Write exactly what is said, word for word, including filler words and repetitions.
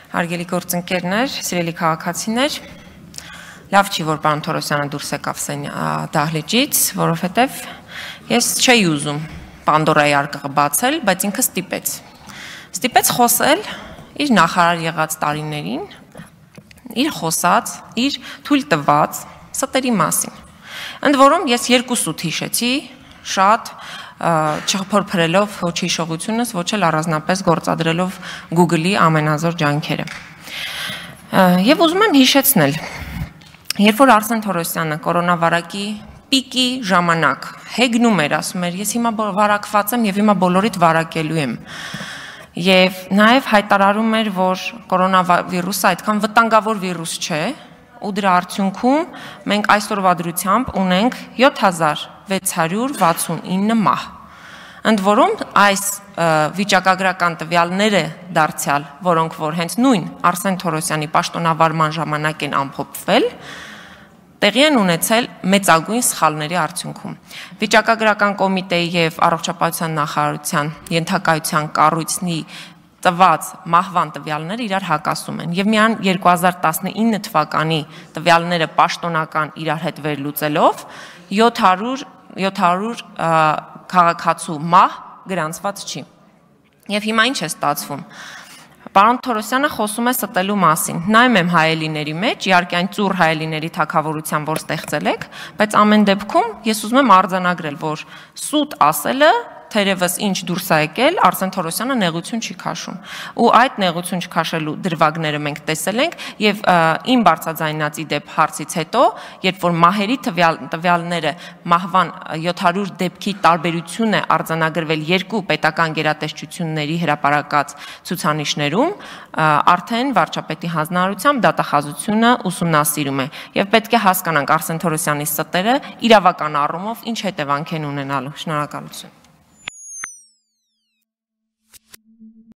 Հարգելի գործընկերներ, սիրելի քաղաքացիներ, լավ չի, որ պարոն Թորոսյանը դուրս եկավ դահլիճից, որովհետև ես չէի ուզում Պանդորայի արկղը բացել, բայց ինքը ստիպեց։ Ստիպեց խոսել իր նախարար եղած տարիներին, իր խոսած, իր թույլ տված ստերի մասին։ Ընդ որում ես երկու սուտ հիշեցի, շատ չփորփրելով ոչ հիշողությունս, ոչ էլ առանձնապես գործադրելով Google-ի ամենազոր ջանքերը։ Եվ ուզում եմ հիշեցնել, երբ որ Արսեն Թորոսյանը կորոնավարակի պիկի ժամանակ հեգնում էր, ասում էր, ես հիմա վարակված եմ եւ հիմա բոլորիդ վարակելու եմ։ Եվ նաեւ հայտարարում էր, որ կորոնավիրուսը այդքան վտանգավոր վիրուս չէ, ու դրա արդյունքում մենք այսօրվա դրությամբ ունենք յոթ հազար վեց հարյուր վաթսունինը մահ։ Ընդ որում այս վիճակագրական տվյալները դարձյալ, որոնք որ հենց նույն Արսեն Թորոսյանի պաշտոնավարման ժամանակ են ամփոփվել, տեղի են ունեցել մեծագույն սխալների արդյունքում։ Վիճակագրական կոմիտեի եւ առողջապահության նախարարության ենթակայության կառույցի տված մահվան տվյալները իրար հակասում են եւ միայն երկու հազար տասնինը թվականի տվյալները պաշտոնական իրար հետ վերլուծելով յոթ հարյուր քաղաքացու մահ գրանցված չի։ Եվ հիմա ինչ է ստացվում։ Պարոն Թորոսյանը խոսում է ստելու մասին։ Նայում եմ հայելիների մեջ, իհարկե այն ծուռ հայելիների թագավորության, որ ստեղծել եք, բայց ամեն դեպքում ես ուզում եմ արձանագրել, որ սուտ ասելը թերևս ինչ դուրս է եկել, Արսեն Թորոսյանը նեղություն չի քաշում։ Ու այդ նեղություն չքաշելու դրվագները մենք տեսել ենք եւ իմ բարձրաձայնած իդեպ հարցից հետո, երբ որ մահերի տվյալները մահվան յոթ հարյուր դեպքի տարբերություն է արձանագրվել երկու պետական գերատեսչությունների հրապարակած ցուցանիշներում, արդեն վարչապետի հանձնարարությամբ դատախազությունը ուսումնասիրում է եւ պետք է հասկանանք Արսեն Թորոսյանի ստերը իրավական առումով ինչ հետևանք են ունենալու։ Շնորհակալություն։